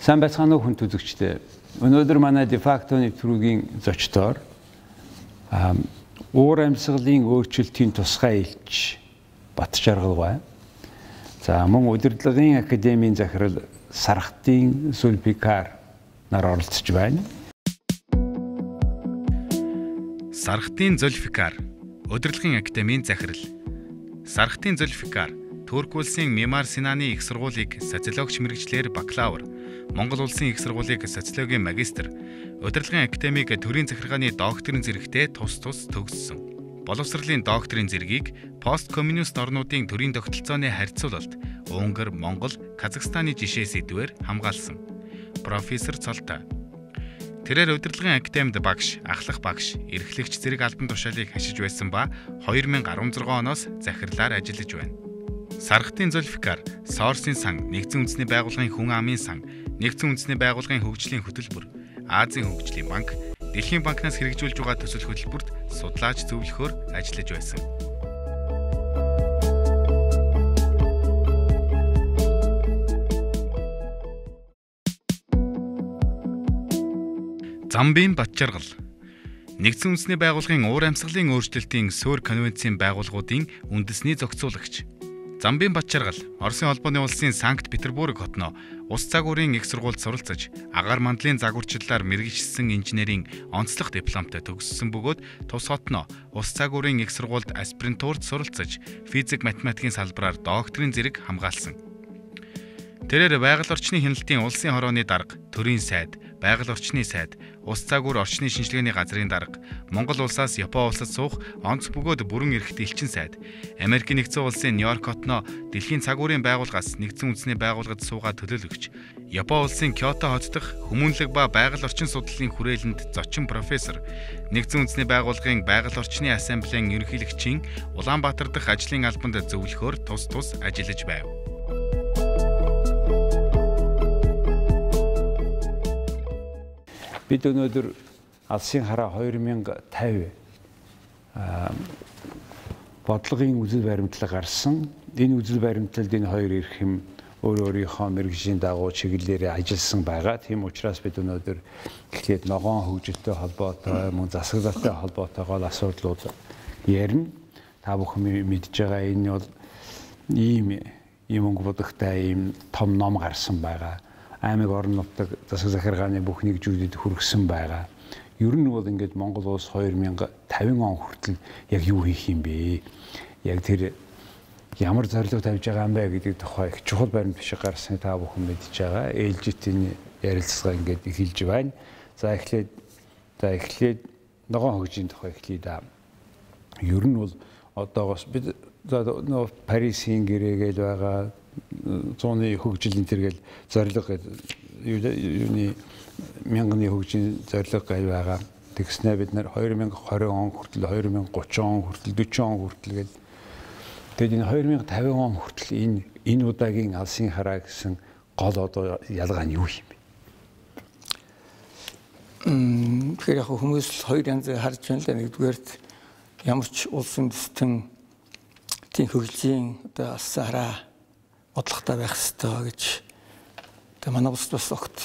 Сайн байцгаана уу хүн үзэгчдээ. Өнөөдөр манай дефакто нэвтрүүлгийн зочдоор уур амьсгалын өөрчлөлтийн тусгай элч Батчаргал бай. За мөн удирдлагын академийн захирал Сархтын Зүлфикар нар оролцож байна. Сархтын Зүлфикар, удирдлагын академийн захирал. Сархтын Зүлфикар, Турк улсын Мимар Синаны их сургуулийг социологч мэргэжлэр бакалавр, Монгол улсын их сургуулийг социологийн магистр, удирдлагын академиг төрийн захиргааны докторийн зэрэгтэй тус төгссөн. Боловсролын докторийн зэргийг посткоммунист орнуудын төрийн тогтолцооны харьцуулалт Унгар, Монгол, Казахстаны жишээс эдвээр хамгаалсан. Профессор Цолтой. Тэрээр удирдлагын академид багш, ахлах багш, эрхлэгч зэрэг албан тушаалыг хашиж байсан ба 2016 оноос захирлаар ажиллаж байна. Сархтын Зүлфикар, Сорсын сан, Нэгдсэн үндэсний байгууллагын хүн амын сан, Нэгдсэн үндэсний байгууллагын хөгжлийн хөтөлбөр, Азийн хөгжлийн банк, Дэлхийн банкнаас хэрэгжүүлж байгаа төсөл хөтөлбөрт судлаач зөвлөхөөр ажиллаж байсан. Замбын Батчаргал. Нэгдсэн үндэсний байгууллагын уур амьсгалын өөрчлөлтийн Суур конвенцийн байгууллагуудын үндэсний зохицуулагч. Замбын Батчаргал, Оросын холбооны улсын Санкт Петербург хотноо ус загварын их сургуульд суралцаж, агаар мандлын загварчлалаар мэргэжсэн инженерийн онцлог дипломтой төгссөн бөгөөд тус хотноо ус загварын их сургуульд аспирантурт суралцаж, физик математикийн салбараар докторийн зэрэг хамгаалсан. Тэрээр байгаль орчны хяналтын улсын хорооны дарга, төрийн сайд, байгаль орчны сайд, ус загвар орчны шинжилгээний газрын дарга, Монгол улсаас Япон улсад суух онц бөгөөд бүрэн эрхт элчин сайд, Америкийн нэгдсэн улсын Нью-Йорк хотноо Дэлхийн цагуурын байгууллагаас Нэгдсэн үндэсний байгууллагад суугаад төлөөлөгч, Япон улсын Кёто хот дахь хүмүүнлэг ба байгаль орчин судлалын хүрээлэнд зочин профессор, Нэгдсэн үндэсний байгууллагын байгаль орчны ассамблеийн ерөнхийлөгчийн Улаанбаатар дахь ажлын албанд зөвлөхөөр тус ажиллаж байв. Бид өнөөдөр Алсын хараа 2050 бодлогын үзэл баримтлал гарсан. Энэ үзэл баримтлалд энэ хоёр эрхэм өөрийнхөө мэргэжлийн дагуу чиглэлээр ажилласан байгаа. Тийм учраас бид өнөөдөр эхлээд ногоон хөгжилтэй холбоотой, мөн засаглалтай холбоотойгоо асуудлууд ярина. Та бүхэн мэдж байгаа энэ бол ийм өнгө будагтай ийм том ном гарсан байгаа. Аймаг орон нутаг засаг захиргааны бүх нэгжүүдэд хүргэсэн байгаа. Ер нь бол ингээд Монгол улс 2050 он хүртэл яг юу хийх юм бэ? Яг тэр ямар зорилго тавьж байгаа юм бэ гэдэг тухай их чухал баримт биш гарсны та бүхэн мэдж байгаа. ээлжитийн ярилцлага ингээд эхэлж байна. За эхлээд ногоон хөгжлийн тухай эхлэе да. Ер нь бол одоогоос бид Парисын гэрээгээл байгаа зууны хөгжлийн тэргээл зорилго юуны мянганы хөгжлийн зорилго гээл байгаа. Тэгснэ бид нар 2020 он хүртэл 2030 он хүртэл 40 он хүртэл гээд тэгээд энэ 2050 он хүртэл энэ удаагийн Алсын хараа гэсэн гол одоо ялгаа нь юу юм бэ? Тэгэхээр яг хүмүүс хоёр янзыг харж байна л да. Нэгдүгээрт ямар ч улсын дэстэн тийм хөгжлийн одоо Алсын хараа бодлоготой байх хэрэгтэй гэж тэгээ манай улсад бас огт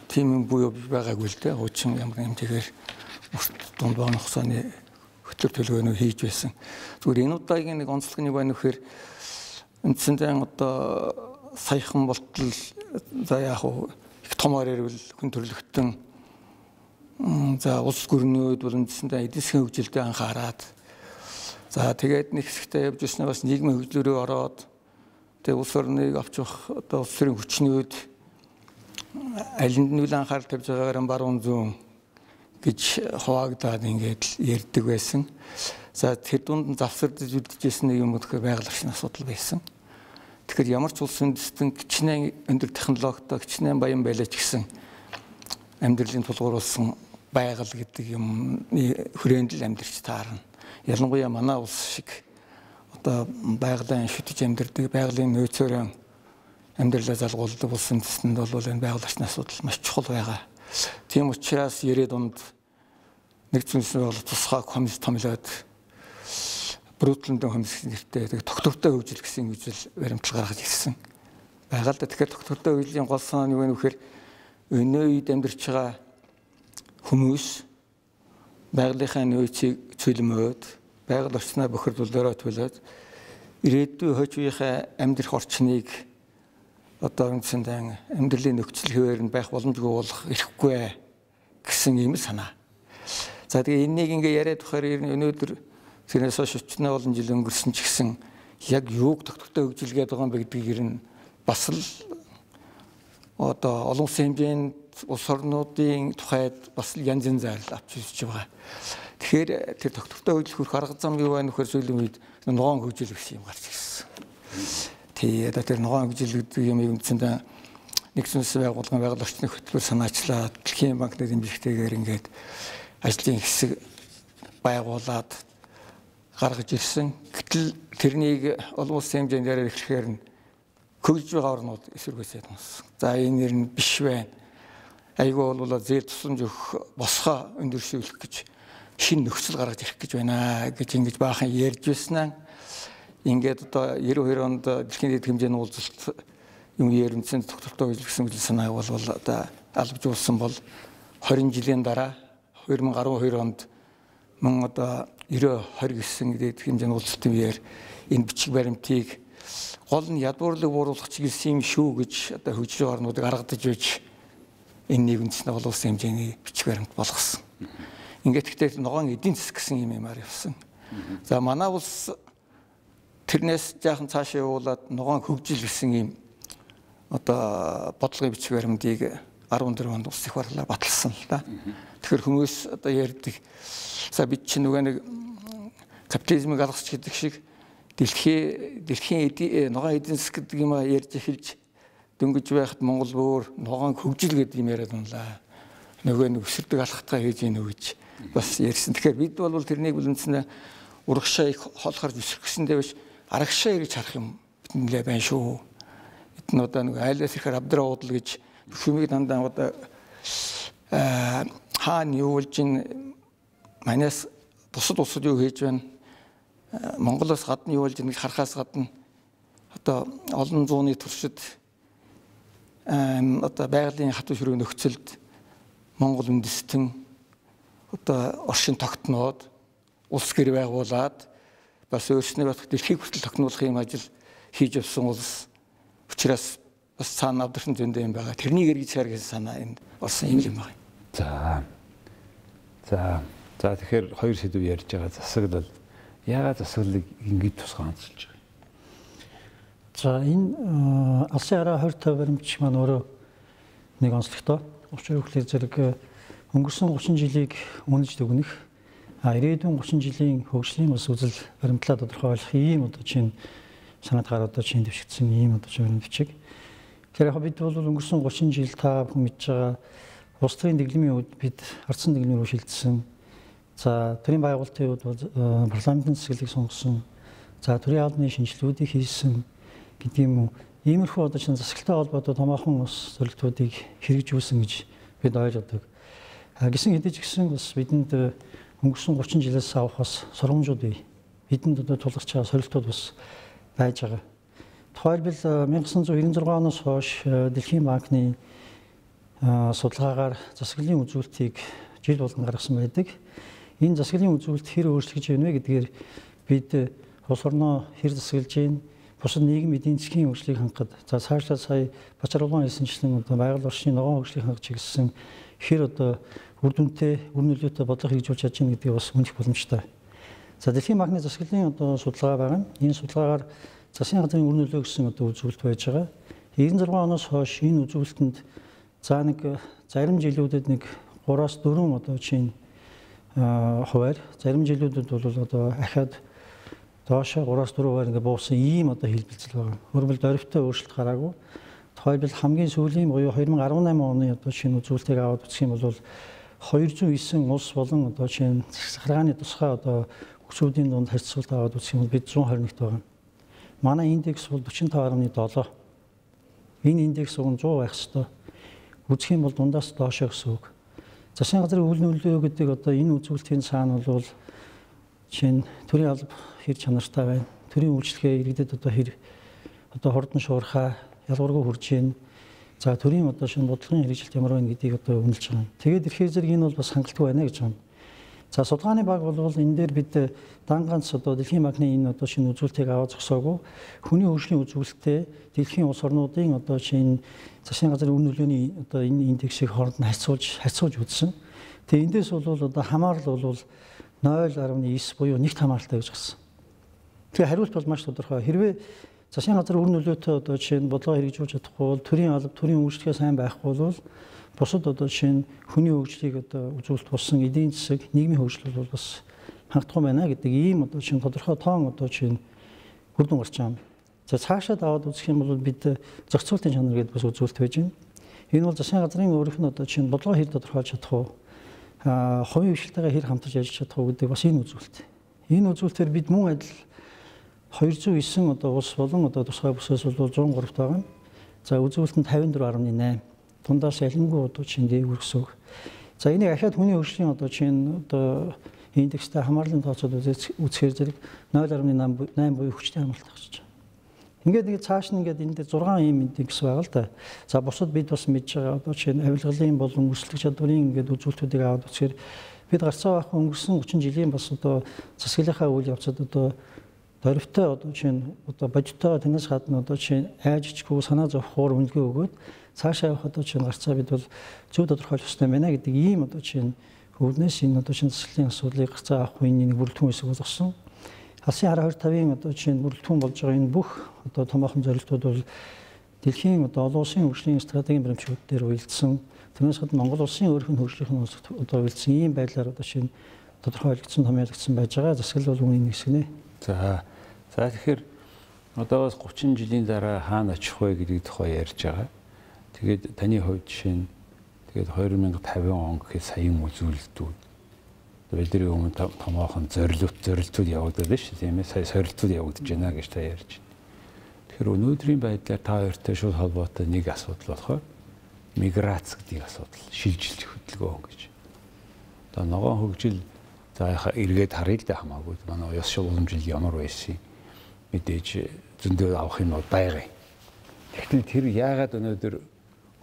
тийм буюу байгаагүй л дээ. Хуучин ямар нэмтэйгээр дунд бааны хугацааны хөтлөг төлөвлөгөөнөө хийж байсан. Зүгээр энэ удаагийн нэг онцлог нь байна вэхээр үндсэндээ одоо саяхан болтол за яг их томоор ирвэл хүн төрлөختөн за улс гүрнүүд бол үндсэндээ эдийн засгийн хөгжилдөө анхаарад за тэгээд нэг хэсэгтээ явж ирснээр бас нийгмийн хөгжлөөрөө ороод тэгээ улс орныг авчих одоо улс төрийн хүчнүүд алинд нь үл анхаарал тавьж байгаагаар баруун зүүн гэж хуваагдаад ингээд ярьдаг байсан. За тэр дунд завсардж үлдчихсэн нэг юм гэхээр байгаль орчны асуудал байсан. Тэгэхээр ямар ч улсын дэстэн хичнээн өндөр технологитой хичнээн баян байлаач гэсэн амьдралын тулгуурласан байгаль гэдэг юмны хүрээнд л амьдарч таарна. Ялангуяа манай улс шиг одоо байгалийн шүтэж амьдардаг, байгалийн нөөцөөр амьдралаа залгуулдаг улсын дэстэнд бол энэ байгаль орчны асуудал маш чухал байгаа. Тийм учраас 90-ад онд нэгдсэн үндэсний байгууллага тусгай комисс томилоод Брүүтлэндэн комисс нэртэй тогтвортой хөгжил гэсэн үзэл баримтлал гаргаж ирсэн. Байгаль тэгэхээр тогтвортой хөгжлийн гол санаа нь юу вэ гэхээр өнөө үед амьдарч байгаа хүмүүс байгалийнхаа нөөцийг цөлмөөд, байгаль орчноо бохирдуулаараа төлөөд ирээдүйн хойч үеийнхээ амьдрах орчныг одоо үндсэндээ амьдралын нөхцөл хэвээр нь байх боломжгүй болох ирэхгүй гэсэн ийм санаа. За тэгээ энийг ингээ яриад тухаар өнөөдөр тэрнээс хойш 40 олон жил өнгөрсөн ч гэсэн яг юуг тогтвортой хөгжилгээд байгаа юм бэ гэдгийг нь бас л одоо олон улсын хэмжээнд улс орнуудын тухайд бас л янз янз зайрал авч үзэж байгаа. Тэгэхээр тэр тогтвортой хөгжил хүрэх арга зам юу байна вөхөр сүүлийн үед ногоон хөгжил гэсэн юм гарч ирсэн. Тэгээд тэр ногоон хөгжил гэдэг юм үндсэндээ нэгдсэн улсын байгууллагын байгаль орчны хөтөлбөр санаачлаад дэлхийн банкны дэмжигтэйгээр ингээд ажлын хэсэг байгуулад гаргаж ирсэн. Гэтэл тэрнийг олон улсын хэмжээнд яриад эхлэхээр нь хөгжиж байгаа орнууд эсэргүүцээд байна. За энэ нэр нь биш байна. Айгүй бол зээл тусламж өгөх босгоо өндөршүүлэх гэж шинэ нөхцөл гаргаж ирэх гэж байна гэж ингэж баахан ярьж байснаа ингээд одоо 92 онд дэлхийн дэд хэмжээний уулзалт юм ярилцсан тогтвортой хөгжил гэсэн үйл санааг бол одоо албажуулсан бол 20 жилийн дараа 2012 онд мөн одоо 90-20 гэсэн дэд хэмжээний уулзалтын үеэр энэ бичиг баримтыг гол нь ядуурлаг бууруулах чиглэсэн юм шүү гэж одоо хөгжиж байгаа орнуудыг аргадаж байж энэ нэгэнцний олон улсын хэмжээний бичиг баримт болгосон. Ингээд гэхдээ ногоон эдийн засаг гэсэн юм ямар явсан. За манай улс тэрнээс жаахан цаашаа явуулаад ногоон хөгжил гэсэн юм одоо бодлогын бичиг баримтыг 14 онд улс их хурлаар баталсан л да. Тэгэхээр хүмүүс одоо ярьдаг за бид чинь нөгөө нэг капитализмыг алгасч гэдэг шиг дэлхийн ногоон эдийн засаг гэдэг юм ярьж эхэлж дөнгөж байхад Монгол бүр ногоон хөгжил гэдэг юм яриад унлаа. Нөгөө нэг өсөрдөг алхатгаа хийж ийн үгэж бас ярьсан. Тэгэхээр бид бол тэрнийг үлэнснэ урагшаа их хол харж өсөрөхсөндөө биш арагшаа гэж харах юм биднээ байна шүү. Эдэн одоо нэг айлаас ихээр абдраа уудал гэж бүхнийг дандаа одоо хаана юу болж ин манаас бусад улсууд юу хийж байна. Монголоос гадна юу болж ин гэж харахаас гадна одоо олон зууны туршид одоо байгалийн хатуу ширүүг нөхцөлд Монгол үндэстэн одоо оршин тогтноод улс гэр байгуулад бас өөрснөө бас дэлхийг хүртэл тогтнуулах юм ажил хийж явсан улс учраас бас цаана авдарсан зөндөө юм байгаа. Тэрнийг эргэж цаар гэсэн санаа энд орсон юм байна. За тэгэхээр хоёр сэдв ярьж байгаа. Засаглал. Яагаад засаглалыг ингэж тусгай онцолж байгаа юм? За энэ алсын хараа 20 баримтч маань өөрөө нэг онцлогтой. Учир нь зэрэг өнгөрсөн 30 жилийг үнэж дүгнэх ирээдүйн 30 жилийн хөгжлийн бас үзэл баримтлаа тодорхойлох ийм одоо чинь санаад гараад чинь дэвшигдсэн ийм одоо чинь бичиг. Тэгэхээр яг бид бол өнгөрсөн 30 жил та бүхэн мэдж байгаа улс төрийн дэглэмийн үед бид ардсан дэглэмээр шилжсэн. За төрийн байгуулалтын үед парламентын засаглалыг сонгосон. За төрийн албаны шинжилгэүүдийг хийсэн гэдэг юм уу. Иймэрхүү одоо чинь засаглалтай холбоотой томоохон ус зорилтуудыг хэрэгжүүлсэн гэж бид ойлгодог. Гэсэн хэдий ч гэсэн бас бидэнд өнгөрсөн 30 жилээс авах бас сургамжууд бий. Бидэнд одоо тулгарч байгаа сорилтууд бас байж байгаа. Тухайлбал 1996 оноос хойш Дэлхийн банкны судалгаагаар засаглалын үзүүлэлтийг жил болгон гаргасан байдаг. Энэ засаглалын үзүүлэлт хэр өөрчлөгдөж байна вэ гэдгээр бид улс орноо хэр засаглаж байна, бусад нийгмийн эдийн засгийн хөгжлийг хангахад за цаашлаа сая Бачарулгаан хэлсэнчлэн одоо байгаль орчны ногоон хөгжлийг хангах чиглэсэн хэр одоо үр дүнтэй, үр нөлөөтэй бодлого хэрэгжүүлж чадж байгаа гэдгийг бас үнэлэх боломжтой. За Дэлхийн банкны засаглалын одоо судалгаа байгаа. Энэ судалгаагаар засгийн газрын үр нөлөө гэсэн одоо үзүүлэлт байж байгаа. 96 оноос хойш энэ үзүүлэлтэнд за нэг зарим жилүүдэд нэг 3-4 одоо чинь хуваар, зарим жилүүдэд бол одоо ахаад доошо 3-4 хуваар ингээ буусан ийм одоо хэлбэлцэл байгаа. Өөрөлд оройтой өөрчлөлт гараагүй. Тухайлбал хамгийн сүүлийн буюу 2018 оны одоо шинэ үзүүлэлтийг аваад үзэх юм бол 209 улс болон одоо чинь захиргааны тусгай одоо хүсүүдийн дунд харьцуулт аваад үзэх юм бол бид 121-т байгаа. Манай индекс бол 45.7. Энэ индекс 100 байх ёстой. Үзэх юм бол дундаас доошо гэсэн үг. Засгийн газрын үйл нөлөө гэдэг одоо энэ үзүүлэлтийн цаана бол чинь төрийн алба хэр чанартай байна. Төрийн үйлчлэгээ иргэдэд одоо хэр одоо хордон шуурхаа ялгаргүй хүрж байна. За төрийн одоо шинэ бодлогын хэрэгжилт ямар байна гэдгийг одоо үнэлж байгаа юм. Тэгээд ихээр зэрэг энэ бол бас хангалттай байна гэж байна. За судалгааны баг бол энэ дээр бид дан ганц одоо Дэлхийн банкны энэ одоо шинэ үзүүлэлтийг аваад зогсоогүй хүний хөгжлийн үзүүлэлттэй дэлхийн улс орнуудын одоо шинэ засгийн газрын үр нөлөөний одоо энэ индексийг хооронд нь харьцуулж үзсэн. Тэгээ эндээс бол одоо хамаарал бол 0.9 буюу нэгт хамааралтай гэж гарсан. Тэгээ хариулт бол маш тодорхой. Хэрвээ засгийн газар үр нөлөөтэй одоо жишээ нь бодлого хэрэгжүүлж чадахгүй бол төрийн алба, төрийн үйлчлэгээ сайн байхгүй бол бусад одоо жишээ нь хүний хөгжлийг одоо үзүүлэлт болсон эдийн засаг, нийгмийн хөгжил бол бас хангалтгүй байна гэдэг ийм одоо жишээ нь тодорхой тоон одоо жишээ нь үр дүн гарч байгаа юм. За цаашаа даваад үзэх юм бол бид зохицуултын чанар гэдэг бас үзүүлэлт байж байна. Энэ бол засгийн газрын өөрийнх нь одоо жишээ нь бодлого хэр тодорхойлж чадах уу, хувийн хвшилтайгаа хэр хамтарч ажиллаж чадах уу гэдэг бас энэ үзүүлэлт. Энэ үзүүлэлтээр бид мөн адил 209 одоо улс болон одоо тусгай бүсээс бол 103 байгаа. За үзүүлэлт нь 54.8. Дундаас ялангуй одоо чинь дээгүүр гэсэн үг. За энийг ахаад хүний хөгжлийн одоо чинь одоо индекстэй хамаарлын тооцоод үзэхээр зэрэг 0.8 буюу хүчтэй хамаалт гарч байгаа. Ингээд цааш нь ингээд энэ дээр 6 ийм индекс байгаа л да. За бусад бид бас мэдж байгаа одоо чинь авилгалын болон өрсөлдөх чадварын ингээд үзүүлэлтүүдийг аваад үзэхээр бид гарцаа авах өнгөрсөн 30 жилийн бас одоо засаглалынхаа үйл явцад одоо дөрвтэй одоо чинь одоо бодиттой танаас гадна одоо чинь айжчгүй санаа зовхоор үнэлгээ өгөөд цаашаа явах одоо чинь гарцаа бид бол зөв тодорхойлох ёстой байна гэдэг ийм одоо чинь өвднээс энэ одоо чинь засаглалын асуудлыг гарцаа авах үеийн нэг бүрэлдэхүүн хэсэг болгосон. Алсын хараа 25-ын одоо чинь бүрэлдэхүүн болж байгаа энэ бүх одоо томоохон зорилтууд бол дэлхийн одоо олон улсын хөгжлийн стратегийн баримтчууд дээр уялдсан. Тэрнээс гадна Монгол улсын өөрийнх нь хөгжлийн одоо уялдсан ийм байдлаар одоо чинь тодорхойлогдсон, томьёологдсон байж байгаа. Засаглал бол үүний нэг хэсэг нэ. За тэгэхээр одоогоос 30 жилийн дараа хаана очих вэ гэдэг тухай ярьж байгаа. Тэгээд таны хувьд жишээ нь тэгээд 2050 он гэхэд саяын үзүүлэлтүүд бидний өмнө томоохон зорилтууд явагдаад байна шүү дээ, тийм ээ. Сая сорилтууд явагдаж байна гэж та ярьж байна. Тэгэхээр өнөөдрийн байдлаар та хоёртой шууд холбоотой нэг асуудал болохоор миграц гэдэг асуудал, шилжилт хөдөлгөөн гэж. Одоо ногоон хөгжил за эргээд харъя л да хамаагүй. Манай ёс уламжлал ямар байсан юм. Мэдээж зөндөө авах юм бол байгаа юм. Тэгвэл тэр яагаад өнөөдөр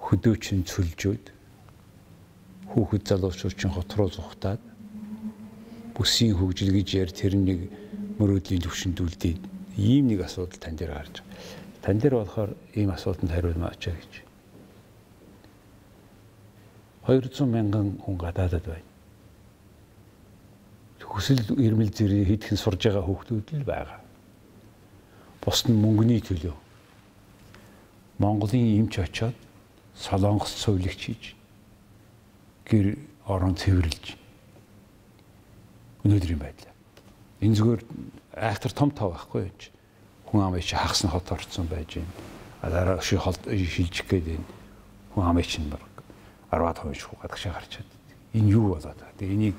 хөдөөчин цөлжөөд хүүхэд залуучууд чинь хот руу зугатаад бүсийн хөгжил гэж яар тэр нэг мөрөөдлийн төвшөндүүлдэг ийм нэг асуудал тань дээр гарч байгаа. Тань дээр болохоор ийм асуултанд хариулмаач гэж. 200 мянган хүн гадаадад байна. Хүсэл эрмэл зэрэг хийдхэн сурж байгаа хүүхдүүд л байгаа. Бус нь мөнгөний төлөө Монголын эмч очоод Солонгос цовлогч хийж гэр орон цэвэрлж өнөөдрийн байдлаа. Энэ зүгээр айхтар том тав байхгүй юу? Хүн амын чи хагасны хот орцсон байж байна. Дараа шилжих гээд байна. Хүн амын чинь 10% шүү гадагшаа гарчаад. Энэ юу болоод байгаа. Тэгээ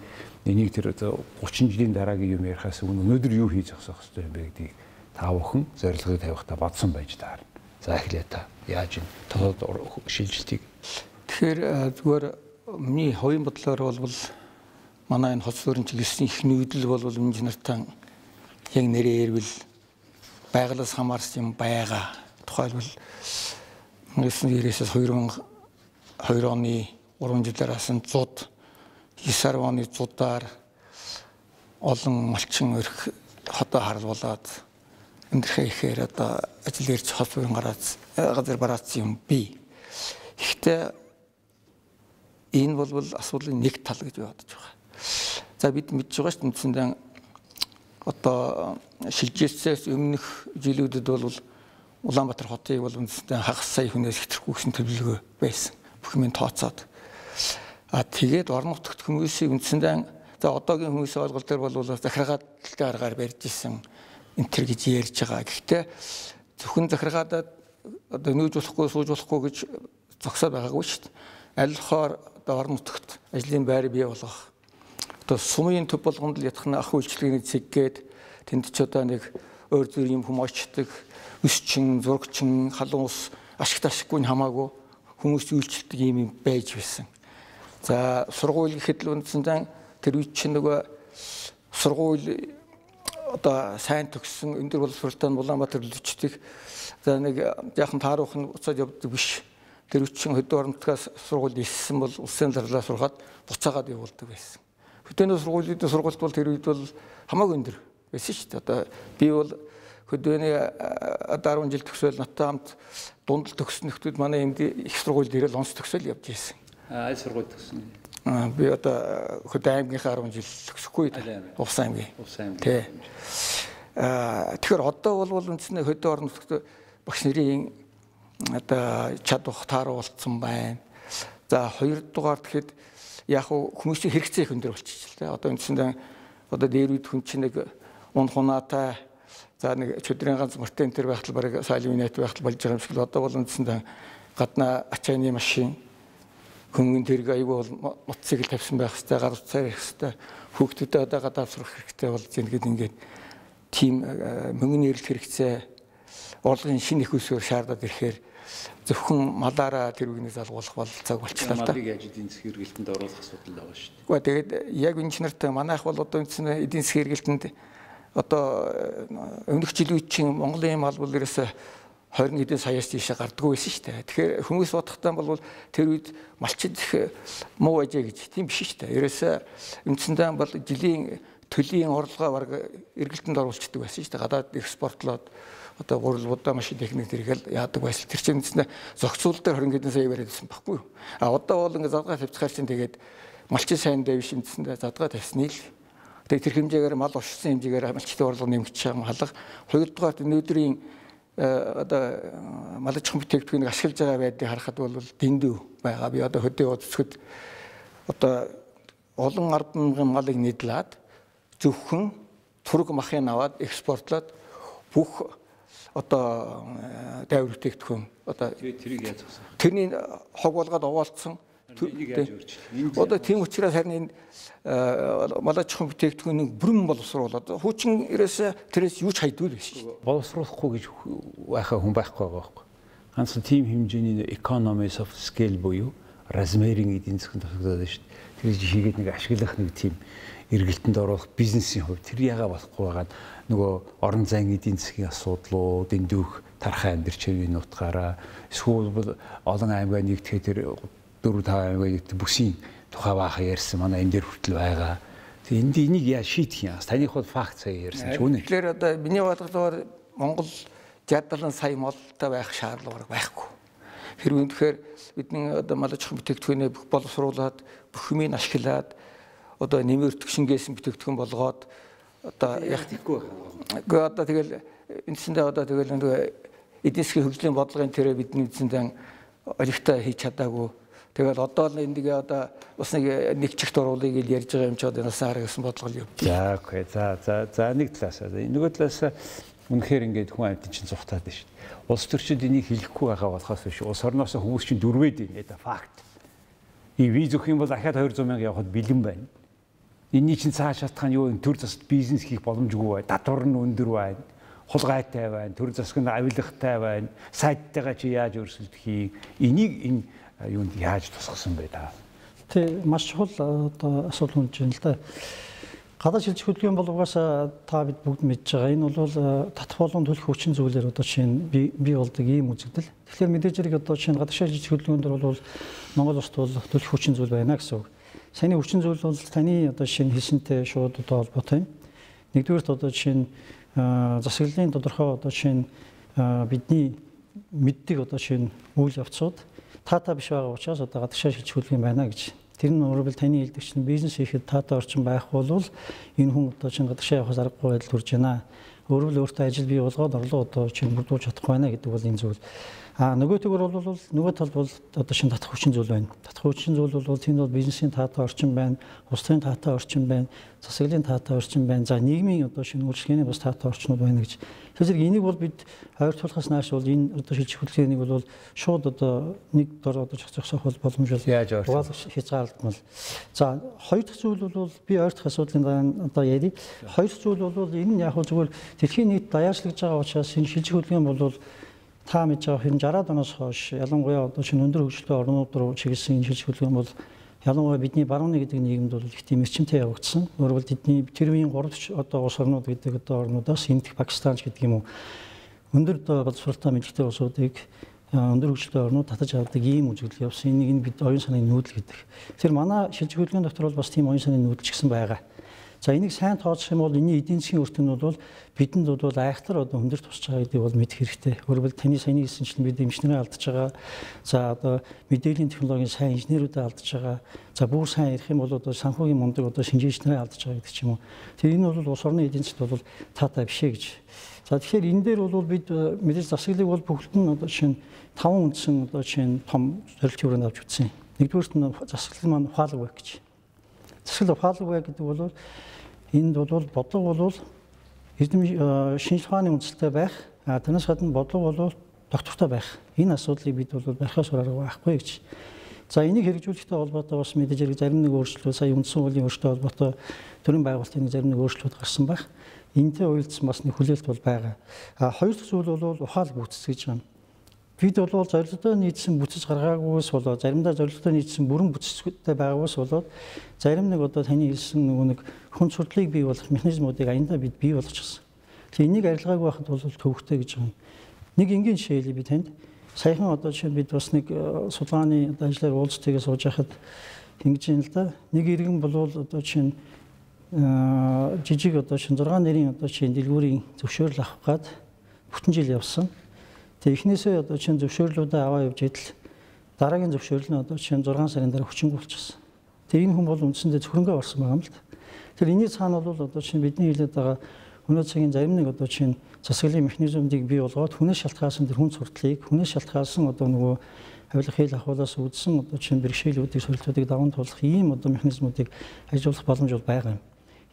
энийг тэр 30 жилийн дараагийн юм ярихаас өнөөдөр юу хийж зогсоох хэрэгтэй юм бэ гэдгийг та бүхэн зорилгыг тавихтаа бодсон байж таарна. За эхлэе та яаж энэ тодод шилжилтийг. Тэгэхээр зүгээр миний хувийн бодлоор бол манай энэ хоц суурин чиглэсний их нүүдэл бол инженертан яг нэрээр ирвэл байгалаас хамаарсан юм байгаа. Тухайлбал 1990-ээс 2002 оны 3 жилээс нь 100 9 оны 100-аар олон малчин өрх хотоо харуулад амьдрахаа ихээр одоо ажил ирж хоц суурин газар бараацсан юм бий. Гэхдээ энэ бол асуудлын нэг тал гэж бодож байгаа. За бид мэдж байгаа шүү дээ үндсэндээ одоо шилжүүлсээс өмнөх жилүүдэд бол Улаанбаатар хотыг бол үндсэндээ хагас сая хүнээс хэтрэхгүй гэсэн төлөвлөгөө байсан. Бүх юм тооцоод. Тэгээд орон нутагт хүмүүсийн үндсэндээ за одоогийн хүмүүсийн ойлголт дээр бол захиргаалалтын аргаар барьж исэн энэ төр гэж ярьж байгаа. Гэхдээ зөвхөн захиргаадад одоо нүүж болохгүй сууж болохгүй гэж зогсоод байгаагүй шүү дээ. Аль болохоор одоо орон нутагт ажлын байр бий болгох. Одоо сумын төв болгонд л ятгах ах үйлчлэгийн цэггээд тэнд ч одоо нэг өөр зүр юм хүм очдог, өсчин, зурагчин, халуун ус ашигт ашиггүй хамаагүй хүмүүс үйлчлдэг юм байж байсан. За сургууль гэхэд л үндсэндээ тэр үе чинь нөгөө сургууль одоо сайн төгссөн өндөр боловсролтой Улаанбаатар үлчдэг. За нэг яахан тааруухан уцаад явдаг биш. тэр үчин хөдөө орнотгоос сургууль иссэн бол улсын зарлаа сурахад буцаагаад явуулдаг байсан. Хөдөөний сургуулийн сургалт бол тэр үед бол хамаагүй өндөр байсан шүү дээ. Одоо би бол хөдөөний 10 жил төгсөөл надтай хамт дундал төгссөн нөхдүүд манай энд их сургуульд ирэл онц төгсөөл явж ирсэн. Аль сургууль төгсөн? Би одоо хөдөө аймгийнхаа 10 жил төгсөхгүй. Увс аймгийн. Тий. Тэгэхээр одоо бол үндсэндээ хөдөө орон нутгад багш нарын одоо чадвар тааруулсан байна. За хоёрдугаар тэгэхэд яг хүмүүсийн хэрэгцээ их өндөр болчихж байна. Одоо үндсэндээ одоо дээр үед хүн чинь нэг унхунаатай за нэг чөдрийн ганц мөртэн тэр байхтал барыг салиминат байхтал болж байгаа юм шиг л одоо бол үндсэндээ гаднаа ачааны машин хүмүүн тэрэг аюул бол мотоцикл тавьсан байх хэрэгтэй, гар утсаар ирэх хэрэгтэй, хүүхдүүдэд одоо гадаад сурах хэрэгтэй болж ингээд тийм мөнгөний эрэлт хэрэгцээ орлогын шинэ их усөөр шаардаад ирэхээр зөвхөн малаараа тэр үгний залгуулах бол цаг болчихлоо та. Малыг яаж эдийн засгийн хэрэгэлтэнд оруулах асуудал байгаа шүү дээ. Гэхдээ тэгээд яг инженертэй манайх бол одоо үндсэн эдийн засгийн хэрэгэлтэнд одоо өмнөх жилийн чинь Монголын мал бол ерөөсө 20 хэдэн саяас тийшээ гардггүй байсан шүү дээ. Тэгэхээр хүмүүс бодохтаа бол тэр үед малчид муу ажээ гэж тийм биш шүү дээ. Ерөөсө үндсэндээ бол жилийн төлийн орлогоо баг эргэлтэнд оруулцдаг байсан шүү дээ. Гадаад экспортлоод одоо гурилбудаа машин техник зэрэгэл яадаг байсан. Тэр чинь үндсэндээ зохицуул дээр 20 хэдэн сая бариадсан байхгүй юу? Одоо бол ингээд задгаа тавьчихаар чинь тэгээд малчин сайн дэв биш үндсэндээ задгаа тавьсныг л тэгээд тэр хэмжээгээр мал уршсан хэмжээгээр малчтын орлого нэмэгдэж байгаа халах. Хоёрдугаар өнөөдрийн одоо мал аж ахуйн бүтээгдэхүүнийг ашиглаж байгаа байдлыг харахад бол дэндүү байгаа. Би одоо хөдөө удацгэд одоо олон ард мянган малыг нийтлээд зөвхөн тург махын аваад экспортлоод бүх одоо дайвар бүтээгдэхүүн одоо тэрийг яаж зогсоо. Тэрний хог болгоод овоолцсон. Одоо тийм учраас харин энэ мал аж ахуйн бүтээгдэхүүнийг бүрэн боловсруулаад хуучин ерөөсөө тэрээс юу ч хайдгүй биш. Боловсруулахгүй гэж байхаа хүн байхгүй байгаа байхгүй. Ганцхан тийм хэмжээний economies of scale буюу размерийн эдийн засгийн тусагдаад байна шүү дээ. Тэр хийгээд нэг ашиглах нэг тийм эргэлтэнд оруулах бизнесийн хувь тэр ягаа болохгүй байгаа нөгөө орон зайн эдийн засгийн асуудлууд эндүүх тархай амьдрч хэвийн утгаараа эсвэл олон аймгаа нэгтгэхэд тэр 4-5 аймгаа нэгтгэх бүсийн тухай бааха ярьсан манай энэ дээр хүртэл байгаа. Тэгээ энийг яа шийдэх юм? Таних бол факт сая ярьсан ч үнэ. Тэгэхээр одоо миний бодлоор Монгол 60-70 сая молтой байх шаардлага байхгүй. Хэрвээ үнэхээр бидний одоо мал аж ахуйн бүтээгдэхүүнээ бүх боловсруулад бүх юмыг ашиглаад одоо нэмэр төгшингээс бүтээгдэхүүн болгоод одоо яг тийхгүй байгаа. Одоо тэгэл эндсэндээ одоо тэгэл нөгөө эдийн засгийн хөгжлийн бодлогын тэрэ бидний эндсэндээ олигтой хийж чадаагүй. Тэгэл одоо л эндгээ одоо бас нэг чигт оруулыг ил ярьж байгаа юм чи одоо нас хараа гэсэн бодлого л явж. За окей. За нэг талаас нөгөө талаас үнэхээр ингээд хүн амьтан чинь зүхтаад байна шүү дээ. Улс төрчид энийг хэлэхгүй байгаа болохоос биш. Улс орноос хүмүүс чинь дөрвээд байна. Это факт. И виз өгөх юм бол дахиад 200 мянга явахад бэлэн байна. Энийний чинь цааш шатах нь юу вэ? Төр засад бизнес хийх боломжгүй бай. Татвар нь өндөр байна. Хулгайтай байна. Төр засаг нь авилгатай байна. Сайттайгаа чи яаж өрсөлдөхийг энийг энэ юунд яаж тусгасан бэ та? Тэ маш чухал одоо асуудал үнж байна л да. Гадаад шилжих хөдөлгөөний боловгоос та бид бүгд мэдж байгаа. Энэ бол татах болон төлөх хүчин зүйлээр одоо чинь бий болдог ийм үзэгдэл. Тэгэхээр мэдээж хэрэг одоо чинь гадаад шилжих хөдөлгөөнд бол Монгол улсд бол төлөх хүчин зүйл байна гэсэн үг. Саяны хүчин зүйл бол таны одоо шинэ хэлсэнтэй шууд одоо холбоотой юм. Нэгдүгээрт одоо чинь засаглалын тодорхой одоо чинь бидний мэддэг одоо чинь үйл явцууд таатай биш байгаа учраас одоо гадаад шилжих хөдөлгөөн байна гэж. Тэр нь өөрөөр таны хэлдэг чинь бизнес хийхэд таатай орчин байх бол энэ хүн одоо чинь гадагшаа явахаас аргагүй байдал хүрж байна. Өөрөөр өөртөө ажил бий болгоод орлого одоо чинь бүрдүүлж чадахгүй байна гэдэг бол энэ зүйл. Нөгөө төгөр бол нөгөө талд бол одоо шинэ татах хүчин зүйл байна. Татах хүчин зүйл бол тэнд бол бизнесийн таатай орчин байна, улсын таатай орчин байна, засаглалын таатай орчин байна. За нийгмийн одоо шинэ үйлчлэгээний бас таатай орчнууд байна гэж. Тэгэхээр энийг бол бид ойртуулахаас нааш бол энэ одоо шилжих хөдөлгөөнийг бол шууд одоо нэг дор одоо зохицох боломж бол угаалгаж хязгаарлагдмал. За хоёр дахь зүйл бол би ойртох асуудлын дараа одоо ярив. Хоёр дахь зүйл бол энэ нь яг зүгээр дэлхийн нийт даяарчлагдж байгаа учраас энэ шилжих хөдөлгөөн бол та мэдж байгаа хэрэг 60-аад оноос хойш ялангуяа одоо шинэ өндөр хөгжөлтэй орнууд руу чиглэсэн энэ шилжих хөдөлгөөн бол ялангуяа бидний барууны гэдэг нийгэмд бол их тийм эрчимтэй явагдсан. Өөрөөр хэлбэл тэдний тэр үеийн 3 одоо улс орнууд гэдэг одоо орнуудаас Инд, Пакистан гэдэг юм уу өндөр боловсролтой мэдлэгтэй улсуудыг өндөр хөгжилтэй орнууд татаж авдаг ийм үзэгдэл явсан. Энийг бид оюун санааны нүүдэл гэдэг. Тэр манай шилжих хөдөлгөөний дотор бол бас тийм оюун санааны нүүдэл ч гэсэн байгаа. За энийг сайн тооцох юм бол энэний эдийн засгийн үр дүн бол бидэнд бол айхтар одоо өндөр тусч байгаа гэдгийг бол мэдэх хэрэгтэй. Өөрөөр хэлбэл таны саяны хэлсэнчлэн бид эмчнэрээ алдаж байгаа. За одоо мэдээллийн технологийн сайн инженерүүдээ алдаж байгаа. За бүр сайн ярих юм бол одоо санхүүгийн мундаг одоо шинжээчнэрээ алдаж байгаа гэдэг ч юм уу. Тэр энэ бол улс орны эдийн засгт бол таатай биш ээ гэж. За тэгэхээр энэ дээр бол бид мэдээж засаглалыг бол бүгд нь одоо чинь 5 үндсэн одоо чинь том зорилтын хүрээнд авч үзсэн. Нэгдүгээрт нь засаглал маань ухаалаг байх гэж. Засаглал ухаалаг байх гэдэг бол энд бол бодлого бол эрдэм шинжлэх ухааны үндэслэлтэй байх, тэрнээс гадна бодлого бол доктортой байх. Энэ асуудлыг бид бол барихаас арга байхгүй гэж. За энийг хэрэгжүүлэхтэй холбоотой бас мэдээж хэрэг зарим нэг өөрчлөлт сая үндсэн хуулийн өөрчлөлттэй холбоотой төрийн байгуулалтын зарим нэг өөрчлөлт гарсан байх. Энтэй уялдсан бас нэг хүлээлт бол байгаа. Хоёр дахь зүйл бол ухаалаг бүтц гэж байна. Бид бол зорилготой нийцсэн бүтэц гаргаагүйс болоод заримдаа зорилготой нийцсэн бүрэн бүтэцтэй байгаагүйс болоод зарим нэг одоо таны хэлсэн нөгөө нэг хүн сурдлыг бий болгох механизмуудыг аяндаа бид бий болгочихсон. Тэгээ энийг арилгаагүй байхад бол төвөгтэй гэж байна. Нэг энгийн жишээ хэлье би танд. Саяхан одоо чинь бид бас нэг судалгааны ажлаар уулзтайгаа сууж байхад ингэж юм л да. Нэг иргэн бол одоо чинь жижиг одоо чинь 6 нэрийн одоо чинь дэлгүүрийн зөвшөөрөл авах гад бүтэн жил явсан. Тэгээ эхнээсээ одоо чинь зөвшөөрлүүдээ аваа явж идэл дараагийн зөвшөөрөл нь одоо чинь 6 сарын дараа хүчингүй болчихсон. Тэгээ энэ хүн бол үндсэндээ зөвхөнгөө орсон байгаа юм л да. Тэр энэний цаана бол одоо чинь бидний хэлээд байгаа өнөө цагийн зарим нэг одоо чинь засаглалын механизмуудыг бий болгоод хүнээс шалтгаалсан тэр хүн сурдлыг хүнээс шалтгаалсан одоо нөгөө авилах хэл ахуулаас үүдсэн одоо чинь бэрхшээлүүдийг сорилтуудыг даван туулах ийм одоо механизмуудыг ажиллуулах боломж бол байгаа юм.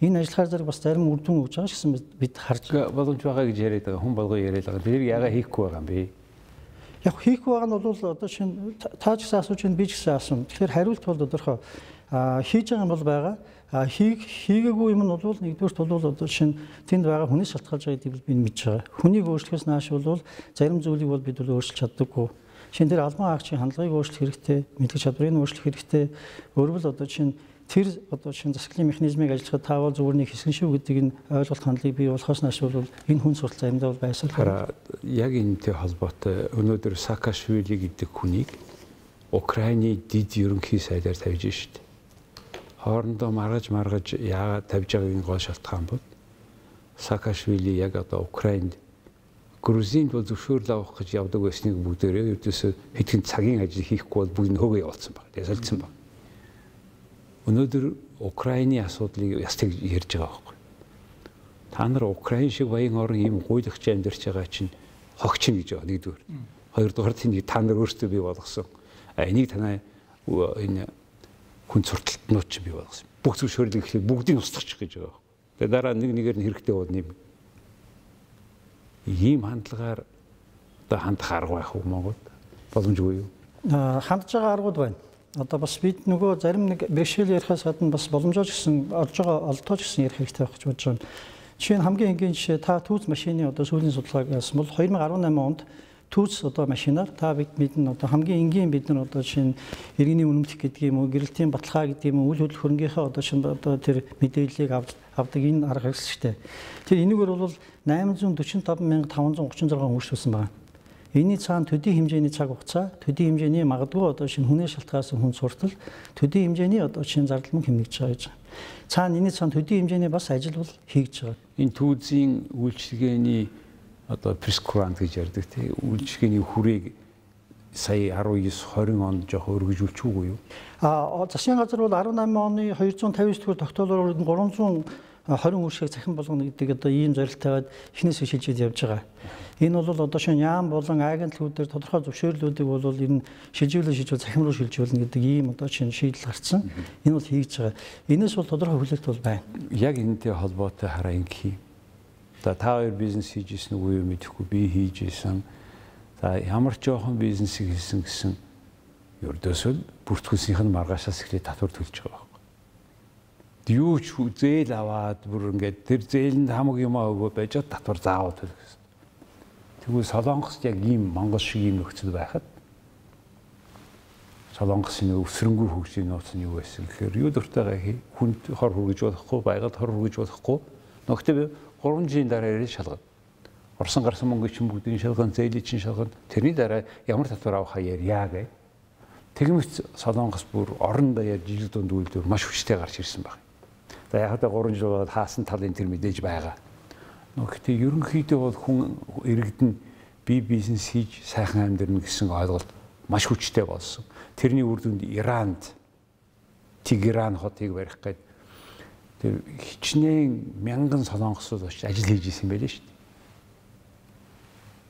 Энэ ажиллахаар зэрэг бас зарим үр дүн өгж байгаа ч гэсэн бид харж боломж байгаа гэж яриад байгаа хүн болгоо яриад байгаа. Тэр яага хийхгүй байгаа юм бэ? Яг хийхгүй байгаа нь бол одоо чинь та ч гэсэн асууж байна би ч гэсэн асууна. Тэгэхээр хариулт бол тодорхой. Хийж байгаа юм бол байгаа. Хийгээгүй юм нь бол нэгдүгээрт бол одоо чинь тэнд байгаа хүнээс шалтгаалж байгаа гэдгийг би мэдж байгаа. Хүнийг өөрчлөхөөс нааш бол зарим зүйлийг бол бид бол өөрчилж чаддаггүй. Шинэ тэр албан хаагчийн хандлагыг өөрчлөх хэрэгтэй, мэдлэг чадварыг өөрчлөх хэрэгтэй. Өөрөөр одоо чинь тэр одоо чинь засаглалын механизмыг ажиллахад таавал зүгээр нэг хэсгэн шүү гэдэг энэ ойлголт хандлагыг бий болохоос нааш бол энэ хүн суртал заримдаа бол байсаар. Яг энэтэй холбоотой өнөөдөр Саакашвили гэдэг хүнийг Украины дид ерөнхий сайдаар тавьж штт. Хоорондоо маргаж яагаад тавьж байгааг гол шалтгаан бол Саакашвили яг одоо Украинд Грузинд бол зөвшөөрөл авах гэж явдаг байсныг бүгдээрээ ердөөсөө хэдхэн цагийн ажил хийхгүй бол бүгд нь хөөгөө явуулсан баг. Тэгээ солилцсон баг. Өнөөдөр Украины асуудлыг ястыг ярьж байгаа байхгүй. Та нар Украин шиг баян орн ийм гуйлагч амьдарч байгаа чинь хогчин гэж байгаа нэгдүгээр. Хоёрдугаар тэнийг та нар өөрсдөө бий болгосон. Энийг танай энэ хүн сурталтнууд ч бий болгосон. Бүх зөвшөөрлийг ихлээр бүгдийг устгах гэж байгаа. Тэгээ дараа нэг нэгээр нь хэрэгтэй бол нэм. Ийм хандлагаар одоо хандах арга байх уу Монголд? Боломжгүй юу? Хандж байгаа аргууд байна. Одоо бас бид нөгөө зарим нэг бэрхшээл ярихаас гадна бас боломжоо ч гэсэн орж байгаа олдоо ч гэсэн ярих хэрэгтэй байх гэж бодож байна. Жишээ нь хамгийн энгийн жишээ та түүц машины одоо сүүлийн судалгааг яасан бол 2018 онд түүц одоо машинаар та бидний одоо хамгийн энгийн бид нар одоо жишээ нь иргэний үнэмлэх гэдэг юм уу, гэрэлтийн баталгаа гэдэг юм уу, үйл хөдлөх хөрөнгийнхээ одоо чинь одоо тэр мэдээллийг авдаг энэ арга хэрэгсэлтэй. Тэр энэгээр бол 845,536 үйлчлүүлсэн байна. Энийний цаана төдий хэмжээний цаг хугацаа, төдий хэмжээний магадгүй одоо шинэ хүнээс шалтгаалсан хүн суртал, төдий хэмжээний одоо шинэ зардал мөн хэмнэгдэж байгаа гэж. Цаана энэний цаана төдий хэмжээний бас ажил бол хийж байгаа. Энэ түүзийн үйлчилгээний одоо прескурант гэж ярьдаг тийм үйлчилгээний хүрээг сая 19-20 онд жоох өргөжүүлчихгүй юу? Засгийн газар бол 18 оны 259 дугаар тогтоолоор 320 үйлчлэгийг цахим болгоно гэдэг одоо ийм зорилт тавиад эхнээсээ шилжиж явж байгаа. Энэ бол одоо шинэ яам болон агентлгүүдээр тодорхой зөвшөөрлүүдийг бол энэ шилжүүл цахим руу шилжүүлнэ гэдэг ийм одоо шинэ шийдэл гарсан. Энэ бол хийж байгаа. Энэс бол тодорхой хүлээлт бол байна. Яг энэтэй холбоотой хараа ингэхий. За та хоёр бизнес хийж ирсэн үгүй юу мэдэхгүй би хийж ирсэн. За ямар ч жоохон бизнесийг хийсэн гэсэн ердөөсөө бүртгүүлсийнх нь маргаашаас эхлээд татвар төлж байгаа байхгүй. Юу ч зээл аваад бүр ингээд тэр зээлэнд хамаг юм өгөө байж татвар заавал төлөх гэсэн. Тэгвэл Солонгост яг ийм Монгол шиг ийм нөхцөл байхад Солонгосын өвсрөнгөө хөгжлийн нууц нь юу байсан гэхээр юу дуртайгаа хүнд хор хүргэж болохгүй, байгаль хор хүргэж болохгүй. Нөгөөдөө 3 жилийн дараа ирээд шалгав. Орсон гарсан мөнгө чинь бүгдийн шалган, зээлийн чинь шалган тэрний дараа ямар татвар авах ярья гэ. Тэгмэц Солонгос бүр орон даяар жижиг дунд үйлдвэр маш хүчтэй гарч ирсэн байна. За яг та 3 жил болоод хаасан талын тэр мэдээж байгаа. Гэхдээ ерөнхийдөө бол хүн иргэдэн бие бизнес хийж сайхан амьдрна гэсэн ойлголт маш хүчтэй болсон. Тэрний үр дүнд Иранд Тегеран хотыг барих гээд тэр хичнээн мянган солонгосууд очиж ажил хийж исэн байлээ шүү дээ.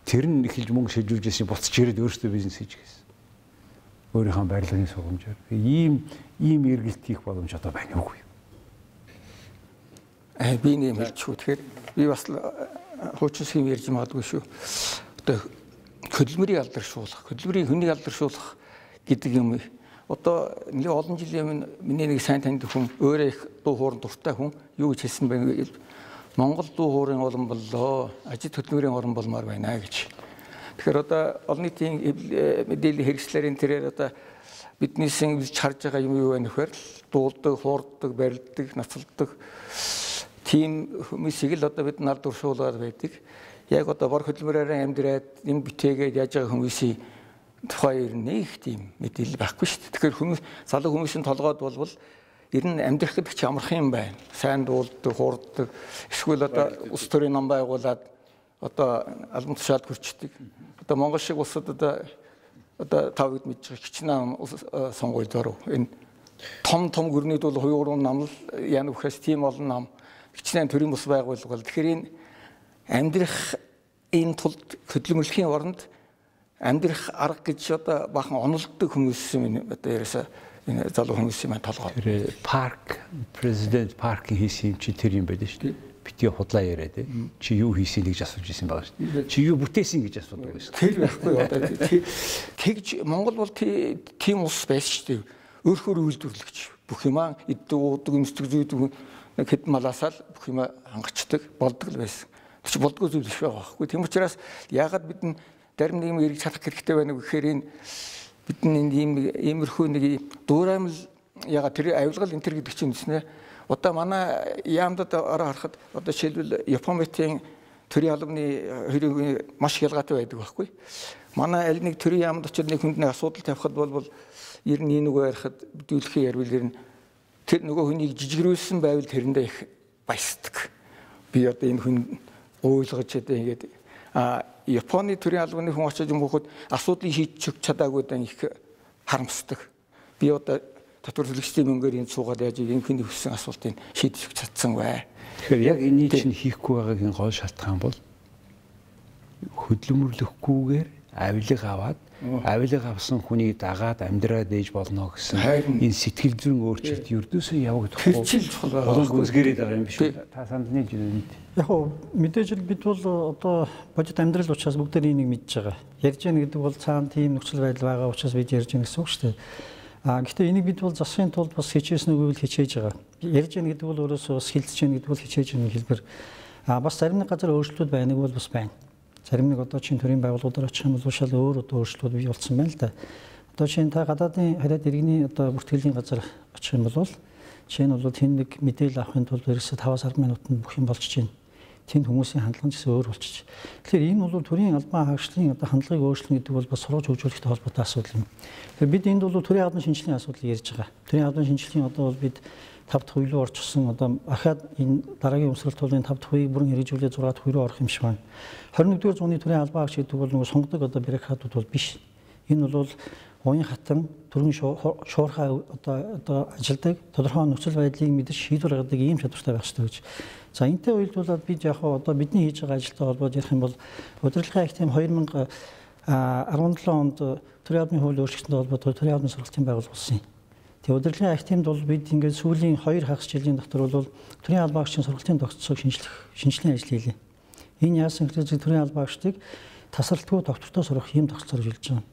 Тэр нь эхэлж мөнгө шилжүүлж исэн буцаж ирээд өөрсдөө бизнес хийж гэсэн. Өөрийнхөө барилгын сургамжаар ийм эргэлт хийх боломж одоо байна уугүй. Би нэг хэлчихв. Тэгэхээр би бас хуучин хэм ярьж магадгүй шүү. Одоо хөдөлмөрийг алдаршуулах, хөдөлмөрийг хүнийг алдаршуулах гэдэг юм. Одоо нэг олон жилийн миний нэг сайн таньд хүн өөрөө их дуу хоорон дуртай хүн юу гэж хэлсэн бэ гэвэл Монгол дуу хоорын орн боллоо, ажил хөдөлмөрийн орн болмоор байна гэж. Тэгэхээр одоо олон нийтийн мэдээллийн хэрэгслэрийн тэрээр одоо биднээс ингэж харж байгаа юм юу вэ нөхөр дуулдаг, хуурдаг, барилдаг, нацалдаг тийм хүмүүсийг л одоо бид нар дуршуулаад байдаг. Яг одоо бор хөдөлмөрөөр амьдраад юм битээгээд яаж байгаа хүмүүсийн тухай нэг тийм мэдээлэл байхгүй шүү дээ. Тэгэхээр хүмүүс залуу хүмүүсийн толгойд болвол ер нь амьдрах гэдэг чи амархан юм байна. Сайн дуулдаг, хуурдаг, эсвэл одоо улс төрийн нам байгуулад одоо албан тушаалд хүрчдэг. Одоо Монгол шиг улсад одоо тавд мэдж байгаа хичнээн сонгуульд оров. Энэ том гүрнийд бол 2-3 нам л яа нүхэс тийм олон нам хичнээн төрийн бус байгуулга. Тэгэхээр энэ амьдрах энэ тулд хөдөлмөрлөхийн оронд амьдрах арга гэж одоо бахан онолддог хүмүүс юм одоо ерөөсөө энэ залуу хүмүүс юм толгой. Тэр парк президент паркийн хийсэн юм чи тэр юм байдаг шүү дээ. Битгий худлаа яриад чи юу хийсийг гэж асууж ирсэн байгаа шүү дээ. Чи юу бүтээсэн гэж асуудаг байсан. Тэр байхгүй одоо тэгж Монгол бол тийм улс байсан шүү дээ. Өөрөөр үйлдвэрлэгч бүх юмаа иддэг уудаг өмсдөг зүйдэг нэг хэд малаасаа л бүх юмаа хангацдаг болдог л байсан. Тэр чи болдгоо зүйл биш байгаа байхгүй. Тийм учраас яагаад бид зарим нэг юм эргэж чадах хэрэгтэй байна гэхээр энэ бидний иймэрхүү нэг дуураймал ягаад тэр авилгал энэ төр гэдэг чинь үснэ. Одоо манай яамдад ороо харахад одоо жишээлбэл Японийн төрийн албаны хөрөгийн маш ялгаатай байдаг байхгүй. Манай аль нэг төрийн яамд очиж нэг хүнд нэг асуудал тавихад бол ер нь нөгөө ярихад бүдүүлэхээ ярил ер нь тэр нөгөө хүнийг жижигрүүлсэн байвал тэрэндээ их баясдаг. Би одоо энэ хүн ойлгож одоо ингээд Японы төрийн албаны хүн очиж юм хөхөд асуудлыг шийдэж чадаагүй дан их харамсдаг. Би одоо татвар төлөгчдийн мөнгөөр энэ суугаад яаж энэ хүний хүссэн асуултыг шийдэж чадсан бай. Тэгэхээр яг энэ чинь хийхгүй байгаагийн гол шалтгаан бол хөдөлмөрлөхгүйгээр авилга аваад авилга авсан хүнийг дагаад амьдраад ээж болно гэсэн энэ сэтгэл зүйн өөрчлөлт ердөөсөө явагдахгүй. Болон гүйцгэрээд байгаа юм биш үү? Та сандны жирэнд. Яг хөө мэдээж л бид бол одоо бодит амьдрал учраас бүгд энийг мэдж байгаа. Ярьж яах гэдэг бол цаана тийм нөхцөл байдал байгаа учраас бид ярьж байгаа гэсэн үг шүү дээ. Гэхдээ энийг бид бол засахын тулд бас хичээсэн үгүй хичээж байгаа. Ярьж яах гэдэг бол өөрөөсөө бас хилцэж яах гэдэг бол хичээж байгаа хэлбэр. Бас зарим нэг газар өөрчлөлт байныг бол бас байна. Зарим нэг одоо чинь төрийн байгууллагуудаар очих юм бол шал өөр одоо өөрчлөлт бий болсон байна л да. Одоо чинь та гадаадын хариад иргэний одоо бүртгэлийн газар очих юм бол чинь бол тэн нэг мэдээлэл авахын тулд ерөөсөө 5-10 минутанд бүх юм болчихж байна. Тэнд хүмүүсийн хандлага нь өөр болчих. Тэгэхээр энэ бол төрийн албан хаагчлалын одоо хандлагыг өөрчлөн гэдэг бол бас сургууль хөгжүүлэхтэй холбоотой асуудал юм. Тэгэхээр бид энд бол төрийн албан шинжилгээний асуудлыг ярьж байгаа. Төрийн албан шинжилгээний одоо бол бид 5 дахь үе рүү орчихсон одоо ахаад энэ дараагийн өмсрэлт тулын 5 дахь үеийг бүрэн хэрэгжүүлээд 6 дахь үе рүү орох юм шиг байна. 21-р зууны төрийн албан хаагч гэдэг бол нөгөө сонгодог одоо бюрократууд бол биш. Энэ бол уян хатан төрийн шуурхай одоо ажилдаг тодорхой нөхцөл байдлыг мэдж шийдвэр гаргадаг ийм чадвартай байх хэрэгтэй гэж. За энэтэй уялдуулаад бид яг одоо бидний хийж байгаа ажилтай холбоод ярих юм бол удирдлагын акт 2017 онд төрийн албаны хууль өөрчлөлтөнд холбоотой төрийн албаны сургалтын байгууллага болсон юм. Тэгээ удирдлагын актимд бол бид ингээд сүүлийн 2 хагас жилийн дотор бол төрийн албан хаагчийн сургалтын тогтцоог шинжилгээ ажил хийлээ. Энэ яасан гэвэл төрийн албан хаагчдыг тасралтгүй доктортой сурах юм тогтцооржилж байгаа.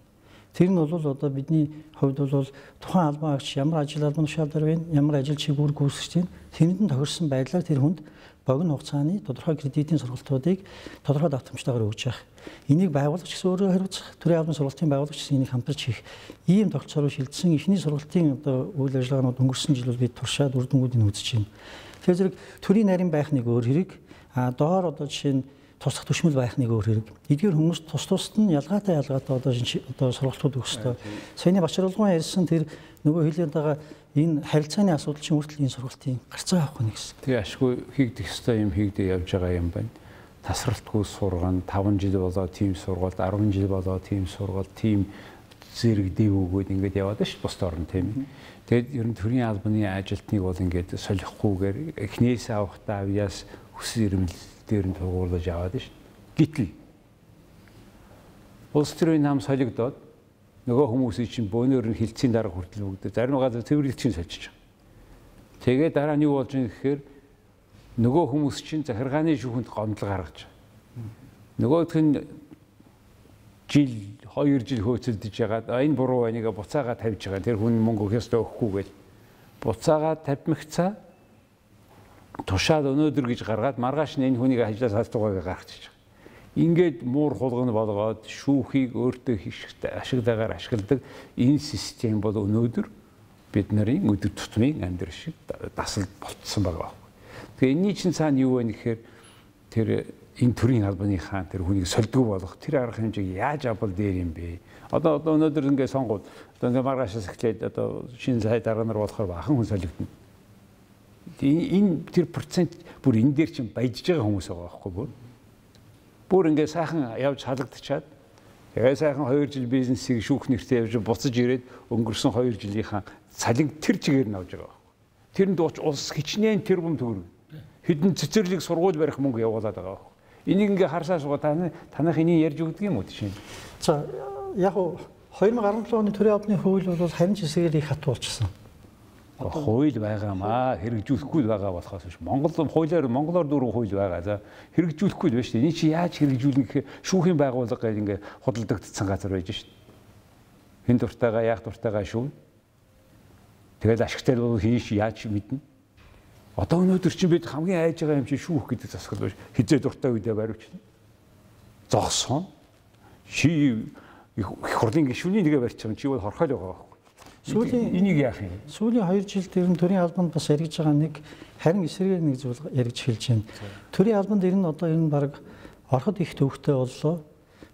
Тэр нь бол одоо бидний хувьд бол тухайн албан хаагч ямар ажил албан тушаалдар байна, ямар ажил чиг үүрэг гүйцэтгэж байна. Тэрэнд нь тохирсон байдлаар тэр хүнд богино хугацааны тодорхой кредитийн сургалтуудыг тодорхой давтамжтайгаар өгж явах. Энийг байгуулагч гэсэн өөрөө хариуцах, төрийн албаны сургалтын байгуулагч гэсэн энийг хамтарч хийх. Ийм тогтцоор шилжсэн эхний сургалтын одоо үйл ажиллагаанууд өнгөрсөн жил бол бид туршаад үр дүнгуудыг үзэж байна. Тэгэхээр зэрэг төрийн нарийн байх нэг өөр хэрэг. Доор одоо жишээ нь туслах түшмэл байх нэг өөр хэрэг. Эдгээр хүмүүс тусад нь ялгаатай одоо сургалтууд өгөх ёстой. Саяны Бачарулгын ярьсан тэр нөгөө хэлээд байгаа энэ харилцааны асуудал чинь үртэл энэ сургалтын гарцаа авах нь гэсэн. Тэгээ ашгүй хийгдэх ёстой юм хийгдэж явж байгаа юм байна. Тасралтгүй сургана 5 жил болоо тийм сургалт 10 жил болоо тийм сургалт тийм зэрэг дээгүүгээд ингээд яваад ш бус орн тийм. Тэгээд ер нь төрийн албаны ажилтныг бол ингээд солихгүйгээр эхнээс авахтаа авьяас хүсэл эрмэлзэл дээр нь тугуулж аваад ш. Гэтэл улс төрийн нам солигдоод нөгөө хүмүүсийн чинь бөөнөр нь хилцийн дараа хүртэл бүгд зарим газар цэвэрлэгчийн сольчих. Тэгээд дараа нь юу болж байгаа гэхээр нөгөө хүмүүс чинь захиргааны шүүхэнд гомдол гаргаж байгаа. Нөгөөх нь жил 2 жил хөөцөлдөж ягаад энэ буруу байныг буцаагаа тавьж байгаа. Тэр хүн мөнгө өгөхөөс өгөхгүйгээл буцаагаа тавьмагцаа тушаад өнөөдөр гэж гаргаад маргааш нь энэ хүнийг ажлаас халтуугаа гаргачих. Ингээд муур хулгана болгоод шүүхийг өөртөө ашиглагаар ашигладаг энэ систем бол өнөөдөр бид нарын өдөр тутмын амьдрал шиг дасал болцсон байгаа. Тэгээ энэний чинь цаана юу вэ гэхээр тэр энэ төрийн албаны хаан тэр хүнийг сольдгүй болох тэр арга хэмжээг яаж авбал дээр юм бэ? Одоо өнөөдөр ингээд сонгоод одоо ингээд маргаашаас эхлээд одоо шинэ сайд дараа нар болохоор бахан хүн солигдно. Энэ тэр процент бүр энэ дээр чинь баяжж байгаа хүмүүс байгаа байхгүй бүр. Бүр ингээд сайхан явж халагдчихад тэгээ сайхан 2 жил бизнесийг шүүх нэртэй явж буцаж ирээд өнгөрсөн 2 жилийнхаа цалин тэр чигээр нь авж байгаа байхгүй. Тэрэнд улс хичнээн тэрбум төгрөг. Хэдэн цэцэрлэг сургууль барих мөнгө явуулаад байгаа байхгүй. Энийг ингээ харсаа суугаа танах энийг ярьж өгдөг юм уу тийш. За яг 2017 оны төрийн албаны хууль бол харин ч хэсгээр их хат болчихсон. Хууль байгаамаа хэрэгжүүлэхгүй байгаа болохоос биш. Монголоор дөрвөн хууль байгаа. За хэрэгжүүлэхгүй л байна шүү дээ. Эний чи яаж хэрэгжүүлнэ гэхээр шүүхийн байгууллага гэж ингээ худалдагдсан газар байж шүү дээ. Хэн дуртайгаа яах дуртайгаа шүүн. Тэгэл ашигтай бол хин яаж мэднэ. Одоо өнөөдөр чинь бид хамгийн айж байгаа юм чи шүүх гэдэг засаг л хизээ дуртай үедээ баривчна. Зогсон. Чи их хурлын гишүүний нэгэ барьж байгаа чи бол хорхойл байгаа байхгүй. Сүүлийн энийг яах юм? Сүүлийн 2 жил дээр нь төрийн албанд бас яригдж байгаа нэг харин эсрэгээр нэг зүйл яригдж эхэлж байна. Төрийн албанд ер нь одоо энэ баг ороход их төвхтэй боллоо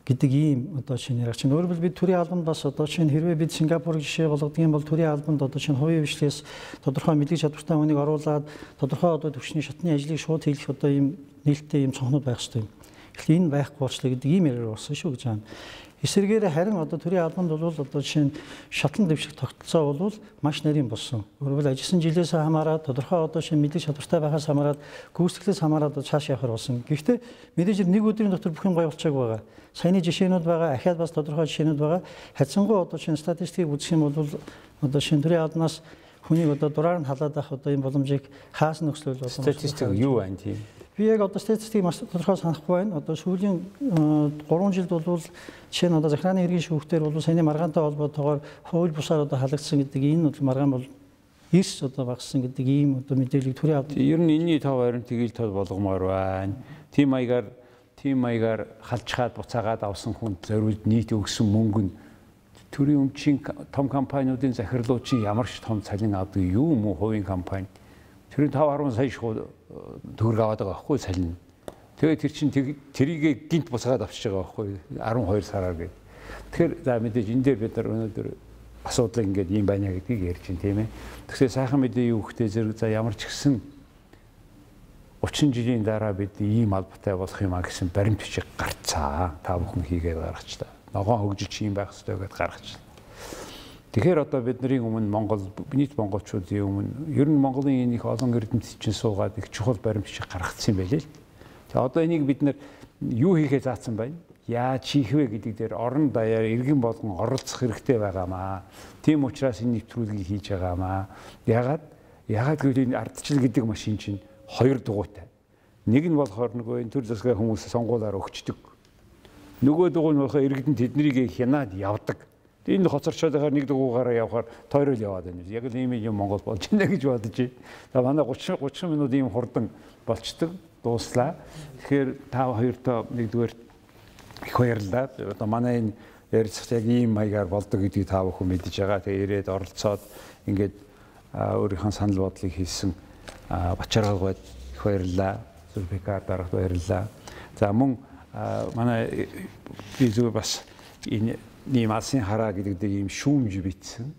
гэдэг ийм одоо шинэ яригч. Өөрөөр бид төрийн албанд бас одоо шинэ хэрвээ бид Сингапурыг жишээ болгодог юм бол төрийн албанд одоо шинэ хувийн хвшлээс тодорхой мэдлэг чадвартай хүнийг оруулаад тодорхой одоо төвчний шатны ажлыг шууд хийх одоо ийм нээлттэй ийм цонхнууд байх хэрэгтэй юм. Тэгэхээр энэ байхгүй болчлаа гэдэг ийм яриа болсон шүү гэж байна. Эсвэргээр харин одоо төрийн албанд бол одоо жишээ нь шатлан дэвших тогтолцоо бол маш нарийн болсон. Өөрөөр ажилласан жилээс хамаарат тодорхой одоо шинэ мэдлэг чадвартай байхаас хамаарат гүйцэтгэлээс хамаарат цааш явахар болсон. Гэхдээ мэдээж нэг өдрийн дотор бүх юм гоё болчихаг байгаа. Саяны жишээнүүд байгаа, ахаад бас тодорхой жишээнүүд байгаа. Хацсангуй одоо шинэ статистикийг үзэх юм бол одоо шинэ төрийн албанаас хүнийг одоо дураар нь халаад авах одоо энэ боломжийг хаасан нөхцөл бол статистик юу байна тийм. Би яг одоо статистикийг маш тодорхой санахгүй байна. Одоо сүүлийн 3 жилд бол жишээ нь одоо захиргааны хэргийн шүүхтэр бол саяны маргаантай холбоотойгоор хууль бусаар одоо халагдсан гэдэг энэ бол маргаан бол эрс одоо багассан гэдэг ийм одоо мэдээллийг төрийн албан. Ер нь энэний тав харин тэгэл тод болгомоор байна. Тим маягаар халжхаад буцаагаад авсан хүнд зориулд нийт өгсөн мөнгө нь төрийн өмчийн том компаниудын захирлууд чинь ямар ч том цалин авдаг юу юм уу хувийн компани. Тэр 5-10 сая төгрөг аваад байгаа байхгүй цалин. Тэгээд тэр чинь тэрийг гинт буцаагаад авчиж байгаа байхгүй 12 сараар гээд. Тэгэхээр за мэдээж энэ дээр бид нар өнөөдөр асуудал ингээд юм байна гэдгийг ярьж байна тийм ээ. Тэгэхээр сайхан мэдээ юу хөхтэй зэрэг за ямар ч гэсэн 30 жилийн дараа бид ийм албатай болох юм а гэсэн баримт бичиг гарцаа. Та бүхэн хийгээд гаргачлаа. Ногоон хөгжиж юм байх хэрэгтэй гэдээ гаргачлаа. Тэгэхээр одоо бидний өмнө нийт монголчуудын өмнө ер нь Монголын энэ их олон эрдэмтэд чинь суугаад их чухал баримт бичиг гаргацсан юм байлээ л. За одоо энийг бид нар юу хийхээ заасан байна? Яаж хийх вэ гэдэг дээр орон даяар иргэн болгон оролцох хэрэгтэй байгаамаа. Тийм учраас энэ нэвтрүүлгийг хийж байгаамаа. Ягаад гэвэл энэ ардчил гэдэг машин чинь 2 дугуйтай. Нэг нь болохоор нөгөө энэ төр засгийн хүмүүс сонгуулаар өгчдөг. Нөгөө дугуй нь болохоор иргэдэнд тэднийг хянаад явдаг. Энэ хоцорчоод байхаар нэг дугуйгаараа явахаар тойрол яваад байна. Яг л ийм юм Монгол болж байна гэж бодож байна. За манай 30 минут ийм хурдан болчдөг дууслаа. Тэгэхээр та хоёртоо нэгдүгээр их баярлалаа. Одоо манай энэ ярилцах яг ийм маягаар болдог гэдгийг та бүхэн мэдж байгаа. Тэгээ ирээд оролцоод ингээд өөрийнхөө санал бодлыг хэлсэн Бачаргалгүйд их баярлалаа. Зүлбекар дарагт баярлалаа. За мөн манай би зүгээр бас энэ ийм алсын хараа гэдэг дээр ийм шүүмж бичсэн.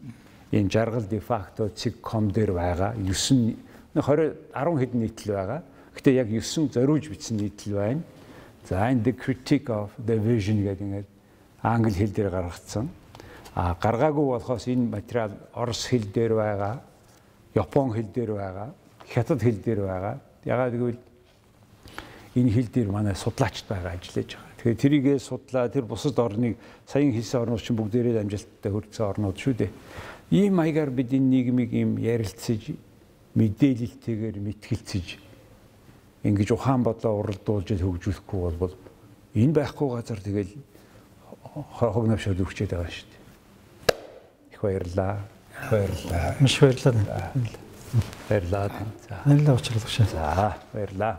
Энэ жаргал де факто цэг.com дээр байгаа 9 10 хэдэн нийтлэл байгаа. Гэтэ яг 9 зориулж бичсэн нийтлэл байна. За энэ The Critique of the Vision гэдэг ингээд англи хэл дээр гаргацсан. Гаргаагүй болохоос энэ материал орос хэл дээр байгаа, япон хэл дээр байгаа, хятад хэл дээр байгаа. Ягаад гэвэл энэ хэл дээр манай судлаачд байгаа ажиллаж байгаа. Тэгэхээр тэрийгээ судлаа, тэр бусад орныг саяхан хэлсэн орнууд чинь бүгдээрээ амжилттай хүрсэн орнууд шүү дээ. Ийм маягаар бид энэ нийгмийг ийм ярилцаж, мэдээлэлтэйгээр мэтгэлцэж ингэж ухаан бодлоо уралдуулж хөгжүүлэхгүй бол энэ байхгүй газар тэгэл хог навшаад өгчээд байгаа шүү дээ. Их баярлаа. Маш баярлалаа. Баярлалаа. Баярлалаа уучлаарай. За, баярлалаа.